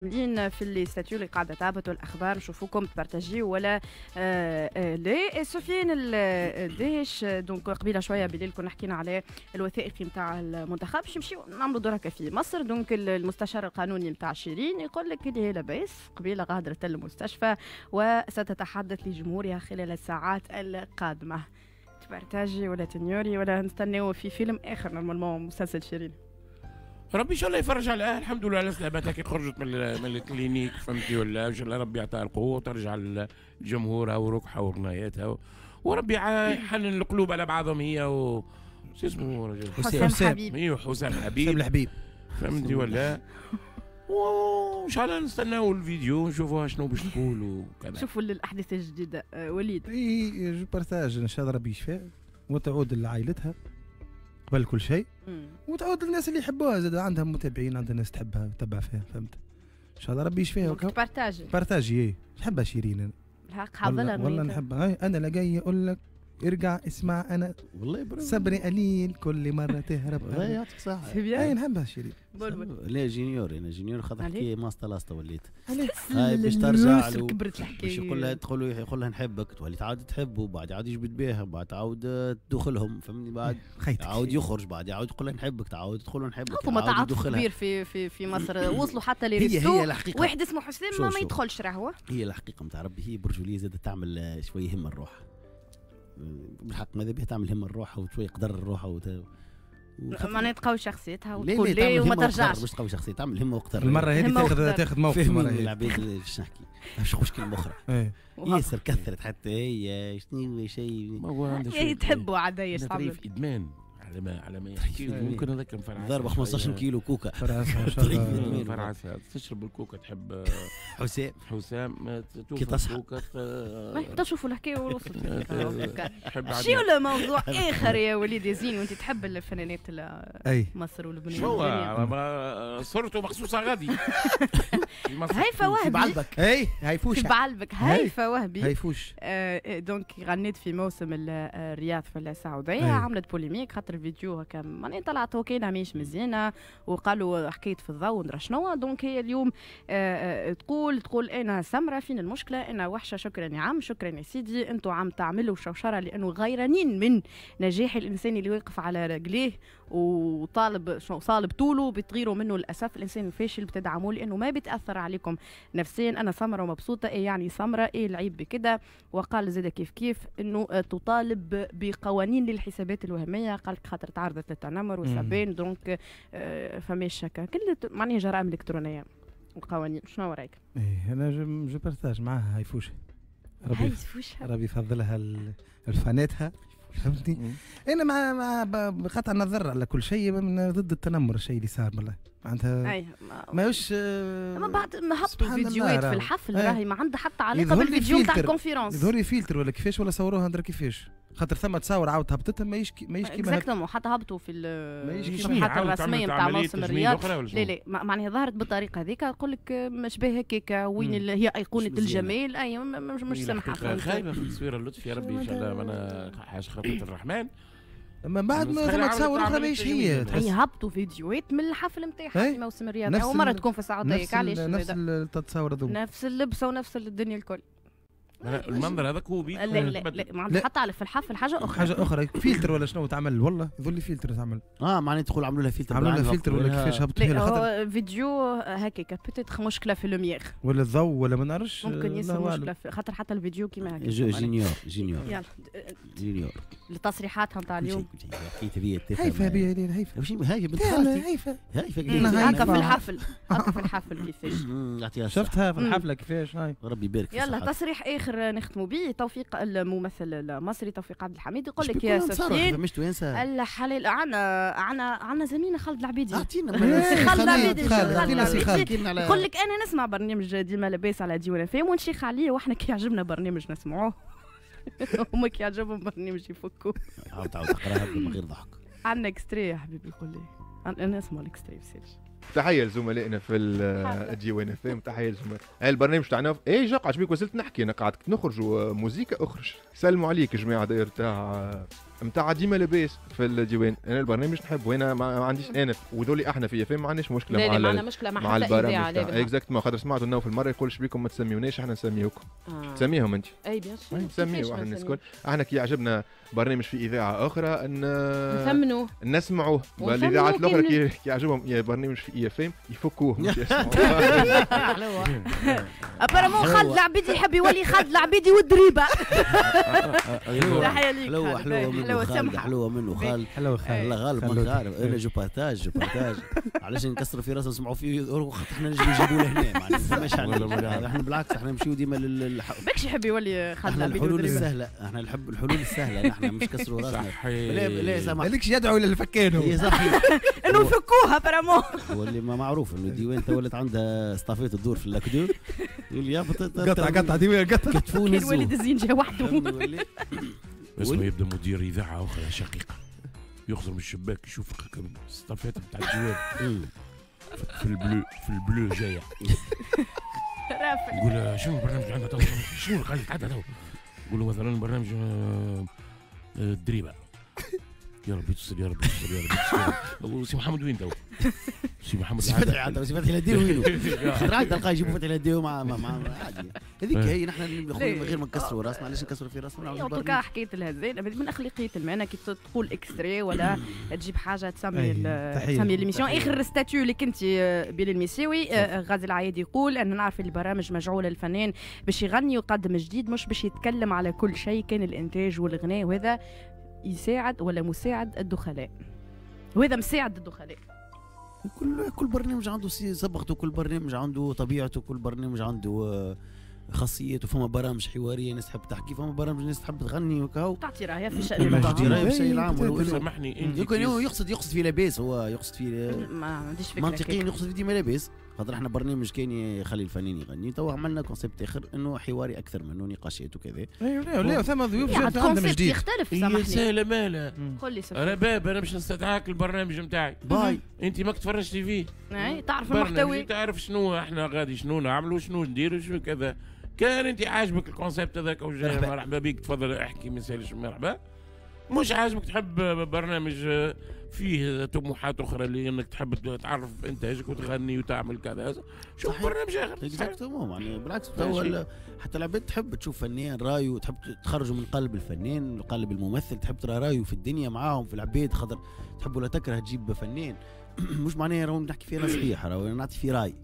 كاملين في les statuts اللي قاعدة تهبط والاخبار، نشوفوكم تبارتاجيو ولا لا. سفيان الدهش، donc قبيلة شوية بالليل كنا حكينا على الوثائقي نتاع المنتخب، باش نمشيو نعملوا دركه في مصر. donc المستشار القانوني نتاع شيرين يقول لك اللي هي لاباس، قبيلة غادرت المستشفى وستتحدث لجمهورها خلال الساعات القادمة. تبارتاجي ولا تنيوري ولا نستناو في فيلم اخر normalement مسلسل شيرين؟ ربي ان شاء الله يفرج عليها، الحمد لله على سلامتها كي خرجت من ال clinique، فهمتي ولا؟ ان شاء الله ربي يعطيها القوة وترجع لجمهورها وركحها وغناياتها، وربي يحنن القلوب على بعضهم هي و شو اسمه رجل حسام حبيب. ايوه حسام حبيب، حسام الحبيب، فهمتي ولا؟ وان شاء الله نستناو الفيديو نشوفوها شنو باش تقول وكذا. شوفوا الاحداث الجديدة. وليد. اي je partage، ان شاء الله ربي يشفيها وتعود لعائلتها قبل كل شيء، وتعود للناس اللي يحبوها زاد، عندها متابعين، عندها ناس تحبها وتتبع فيها، فهمت؟ ان شاء الله ربي يشفيها. partage partage، ايه نحبها شيرين انا. الحق حافظها والله نحبها. انا لا جاي اقول لك ارجع اسمع، انا والله صبري قليل كل مرة تهرب. والله يعطيك صحة. اي نحبها شيرين. لا j'ignore، انا j'ignore خاطر حكاية ماسطه لاصطه وليت. هاي باش ترجع له كبرت الحكاية، باش يقول لها تدخل يقول لها نحبك، تولي تعاود تحبه، بعد يعاود يجبد بها، بعد تعاود تدخلهم، فهمني؟ بعد يعاود يخرج، بعد يعاود يقول لها نحبك، تعاود تدخل نحبك. فما تعاطف كبير في في في مصر، وصلوا حتى les restos واحد اسمه حسام ما يدخلش راهو. هي الحقيقة نتاع ربي، هي برجولية زادت تعمل شوية همه الروح بالحق، ماذا بها تعمل همه الروح وشوية قدر الروح معناها تقوي شخصيتها وتقول ليه وما ترجعش. مش تقوي شخصيتها، تعمل همه وقدر. المرة هذه تاخذ موقف. المرة هذه العباد باش نحكي باش نخش كلمة اخرى ياسر كثرت حتى هي شنو شيء هي تحبوا عاد هي تعمل ادمان على ما يحكي ممكن هذاك مفرعس ضربه 15 كيلو كوكا فرعسها تشرب الكوكا تحب حسام حسام كي تصحى ما تشوفوا الحكاية وصلت شي ولا موضوع اخر يا وليد يزين، وانت تحب الفنانات مصر ولبنان. شو صورته مخصوصة غادي هيفا وهبي بعلبك. اي هيفوش في بعلبك. هيفا وهبي هيفوش donc غنيت في موسم الرياض في السعودية، عملت polémique خاطر الفيديو هكا معناها طلعت وكاينه ماهيش مزيانه وقالوا حكاية في الضوء ندرا شنو. donc هي اليوم تقول انا سمرة، فين المشكلة؟ انا وحشة، شكرا يا عم، شكرا يا سيدي، انتم عم تعملوا شوشرة لانه غيرانين من نجاح الانسان اللي واقف على رجليه وطالب صالب طوله، بتغيروا منه للاسف. الانسان الفاشل بتدعموه لانه ما بيتاثر عليكم نفسيا. انا سمرة ومبسوطة، ايه يعني سمرة، ايه العيب بكده. وقال زاد كيف كيف انه تطالب بقوانين للحسابات الوهمية، قال خاطر تعرضت للتنمر والسبان، donc فماش هكا كل معناها جرائم الكترونية وقوانين. شنو رايك؟ ايه انا je partage معاها هيفوش، ربي يفضلها الفاناتها، فهمتني؟ انا مع بقطع النظر على كل شيء ضد التنمر، الشيء اللي صار والله معناتها ماهوش. اما بعد ما هبطوا فيديوهات في الحفل راهي ما عندها حتى علاقة بالفيديو تاع ال conférence. يظهر لي فلتر ولا كيفاش، ولا صوروها ندرا كيفاش، خاطر ثم تصاور عاود هبطتها ماهيش كيما exactement، حتى هبطوا في الصفحات الرسمية نتاع موسم الرياض. لا لا معناها ظهرت بالطريقة هذيك، نقول لك مش باهي هكاك، وين هي ايقونة الجمال، اي مش سمحه خايبة في التصويره. اللطف يا ربي ان شاء الله، انا حاجة خلقه الرحمن. اما بعد ما ثم تصاور اخرى ماهيش هي. هي هبطوا فيديوهات من الحفل نتاعها في موسم الرياض، اول مرة تكون في السعودية، علاش نفس التصاور هذوما، نفس اللبسه ونفس الدنيا الكل. المنظر هذاك هو بيك. لا لا لا ما عندها حتى على في الحفل حاجة اخرى، حاجة اخرى فلتر ولا شنو تعمل، والله يظل لي فلتر تعمل. معناها تقول عملوا لها فلتر، عملوا لها فلتر ولا كيفاش هبطوا لها، خاطر فيديو هكاك peut-être مشكلة في lumière ولا الضوء ولا ما نعرفش، ممكن يصير مشكلة في خاطر حتى الفيديو كيما هكا. j'ignore يلا j'ignore لتصريحاتها نتاع اليوم. هيفا بيا هيفا هيفا بنت خالتي هيفا هكا في الحفل، هكا في الحفل كيفاش شفتها في الحفلة كيفاش. هاي ربي يبارك. يلا تصريح اخر نختموا به، توفيق الممثل المصري توفيق عبد الحميد يقول لك يا سفيان الحلال. عنا زميلنا خالد العبيدي، اعطينا خالد العبيدي يقول لك انا نسمع برنامج ديما لاباس على ديوان فام ونشيخ عليه، واحنا كي يعجبنا برنامج نسمعوه هما كي يعجبهم برنامج يفكوا. عاود تقراها من غير ضحك. عندنا extrait يا حبيبي، قول لي انا اسمع ال extrait بسيرش. تحية لزملائنا في الديوان اف، تحية لزملاء البرنامج تاعنا. اي جا عجبك وزلت نحكي انا قاعد نخرجوا موزيكا اخرج. سلموا عليك جماعة داير تاع نتاع ديما لاباس في الديوان. انا البرنامج نحب وانا ما عنديش انا وذولي احنا في IFM ما عندناش مشكلة مع ما مشكلة مع البرامج exactement. خاطر سمعت انه في المرة يقول شبيكم ما تسميوناش احنا نسميوكم. تسميهم انت اي bien sûr نسميو احنا الناس الكل. احنا كي يعجبنا برنامج في اذاعة اخرى ان نثمنوه نسمعوه. الاذاعات الاخرى كي يعجبهم برنامج في IFM يفكوه مش يسمعوه. apparemment خالد العبيدي يحب يولي خالد العبيدي والدريبه. تحية ليك. حلوة حلوة منه خالد، حلوة منه خالد، حلوة خالد. الله غالب ما عارف انا je partage je partage علاش نكسروا في راسنا نسمعوا فيه احنا نجيبوا نجيبوا لهنا معناها. احنا بالعكس احنا نمشيو ديما لل باكش يحب يولي خالد العبيدي. الحلول السهلة احنا نحب الحلول السهلة، احنا مش كسروا راسنا. لا لا سامح مالكش يدعو للفكان هو صحيح انه يفكوها apparemment. هو اللي ما معروف انه الديوان تولت عندها estafette تدور في لاكدو يقول يا قطع قطع ديوان قطع. كتفون الوليد الزين جا وحده. اسمه يبدا مدير اذاعة اخرى شقيقه يخزر من الشباك يشوف estafette نتاع الديوان في ال bleu، في ال bleu جاية. يقول شنو البرنامج اللي عندنا تو؟ شنو اللي قاعد تو؟ يقول له مثلا برنامج الدريبه. يا ربي تستر يا ربي تستر يا ربي تستر. سي محمد وين تو؟ سي محمد سي فتحي سي فتحي الهداوي وينو؟ خاطر عاد تلقاه يجيبوا فتحي الهداوي مع عادي. هذيك هي نحن من غير ما نكسروا راسنا. علاش نكسروا في راسنا؟ en tout cas حكاية الهزال من اخلاقية المهنة كي تقول extrait ولا تجيب حاجة تسمي تسمي l'émission. اخر statut اللي كنت بلال المساوي غازي العيادي يقول ان نعرف البرامج مجعوله للفنان باش يغني ويقدم جديد مش باش يتكلم على كل شيء، كان الانتاج والغناء وهذا يساعد ولا مساعد الدخلاء، وهذا مساعد الدخلاء. كل برنامج عنده صبغته، كل برنامج عنده طبيعته، كل برنامج عنده خاصيته. فما برامج حوارية ناس تحب تحكي، فما برامج ناس تحب تغني وكاو تعطي رايها في الشأن العام. تعطي رايها في الشأن العام. سامحني انت يمكن هو يقصد في لاباس، هو يقصد في ما عنديش فكرة منطقيا يقصد في ديما لاباس، خاطر احنا برنامج كان يخلي الفنان يغني، توا عملنا concept اخر انه حواري اكثر منه نقاشات وكذا. ايوه لا ثم ضيوف جات عندهم جديد يختلف. سامحني سهلة ماله قول لي انا باب انا باش نستدعاك البرنامج نتاعي باي انت ماك تفرجتي فيه اي تعرف المحتوى تعرف شنو احنا غادي شنو نعملوا شنو نديروا شنو كذا. كان انت عاجبك ال concept هذاك مرحبا بك تفضل احكي ما يسالش مرحبا. مش عاجبك تحب برنامج فيه طموحات اخرى اللي انك تحب تعرف انتاجك وتغني وتعمل كذا شوف برنامج اخر. exactement يعني بالعكس حتى العباد تحب تشوف فنان رايه، تحب تخرجه من قلب الفنان من قلب الممثل، تحب ترى رايه في الدنيا معاهم في العباد، خاطر تحب ولا تكره تجيب فنان مش معناها راهو نحكي فيه انا صحيح، راهو انا نعطي فيه راي.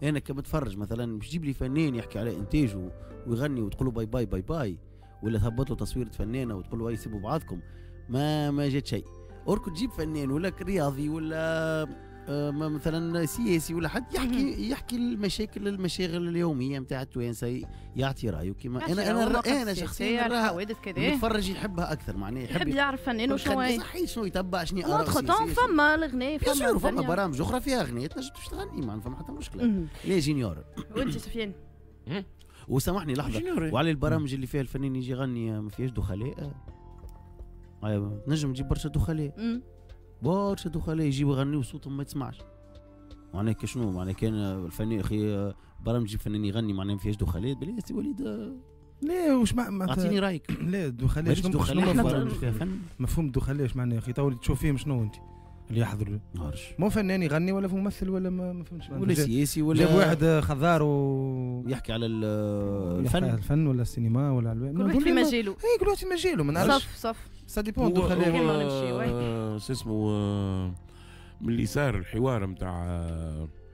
انا كمتفرج مثلا مش تجيب لي فنان يحكي على انتاجه ويغني وتقول له باي باي باي باي، ولا تهبط له تصويره فنانة وتقول له اي سيبوا بعضكم، ما جات شيء. or que تجيب فنان ولا رياضي ولا مثلا سياسي ولا حد يحكي المشاكل المشاغل اليومية نتاع التوانسة، يعطي رايه كيما انا شخصيا المتفرج يحبها اكثر، معناها يحب يعرف فنان وشنو صحيح شنو يتبع شنو اراء سياسية. فما الغناء فما برامج اخرى فيها اغنية تنجم باش تغني ما فما حتى مشكلة. ليه j'ignore وانت سفيان وسامحني لحظة، وعلى البرامج اللي فيها الفنان يجي يغني ما فيهاش دخلاء، نجم تجيب برشا دخلاء برشا دخلاء يجيو يغنيو صوتهم ما تسمعش. معناها شنو معناها كان الفنان اخي برامج يجيب فنان يغني معناها ما فيهاش دخلاء بلا سي وليد. لا واش ما اعطيني رايك. لا الدخلاء شنو فيها فن؟ مفهوم الدخلاء اش معناه يا اخي؟ تو تشوف فيهم شنو انت اللي يحضروا مو فنان يغني ولا ممثل ولا ما فهمتش ولا سياسي ولا جاب واحد خضار و يحكي على الفن الفن ولا السينما ولا كل واحد في مجاله. اي كل واحد في مجاله ما نعرفش. صف ça dépend دخلاء. شو اسمه من اللي صار الحوار نتاع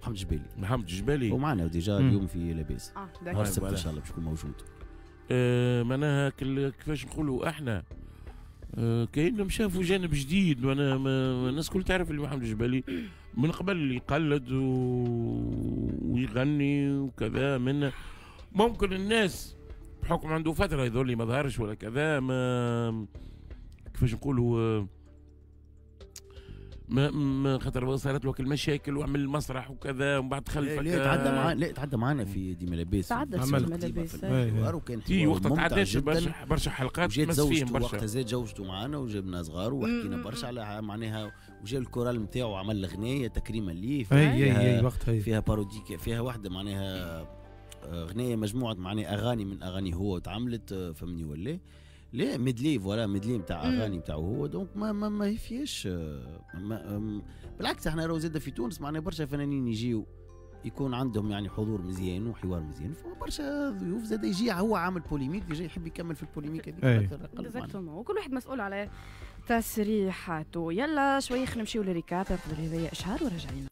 محمد الجبالي. محمد الجبالي ومعنا déjà اليوم في لاباس نهار السبت ان شاء الله باش يكون موجود. معناها كيفاش نقولوا احنا كأنهم شافوا جانب جديد. وانا الناس الكل تعرف اللي محمد الجبالي من قبل يقلد ويغني وكذا، من ممكن الناس بحكم عنده فترة يظل لي ما ظهرش ولا كذا، ما كيفاش نقولوا ما خاطر صارت له المشاكل وعمل مسرح وكذا ومن بعد خلفك. لا تعدى معنا، لا تعدى معنا في ديما لاباس، تعدى في ديما لاباس وكان في وقت تعدات برشا حلقات مس فيهم برشا. وقتها زاد زوجته معنا وجبنا صغار وحكينا برشا على معناها، وجا الكورال نتاعو عمل غنايه تكريما ليه اي وقتها فيها parodie، فيها واحدة معناها غنايه مجموعة معناها اغاني من اغاني هو تعملت فهمني ولا. لا medley، voilà medley نتاع اغاني نتاعو هو، donc ما فيهاش بالعكس. احنا راهو زاد في تونس معناها برشا فنانين يجيو يكون عندهم يعني حضور مزيان وحوار مزيان، فما برشا ضيوف زاد يجي هو عامل polémique، déjà يحب يكمل في ال polémique هذيك. exactement، وكل واحد مسؤول على تصريحاته. يلا شوي خلينا نمشيو لل récap قبل هذايا اشهار وراجعين.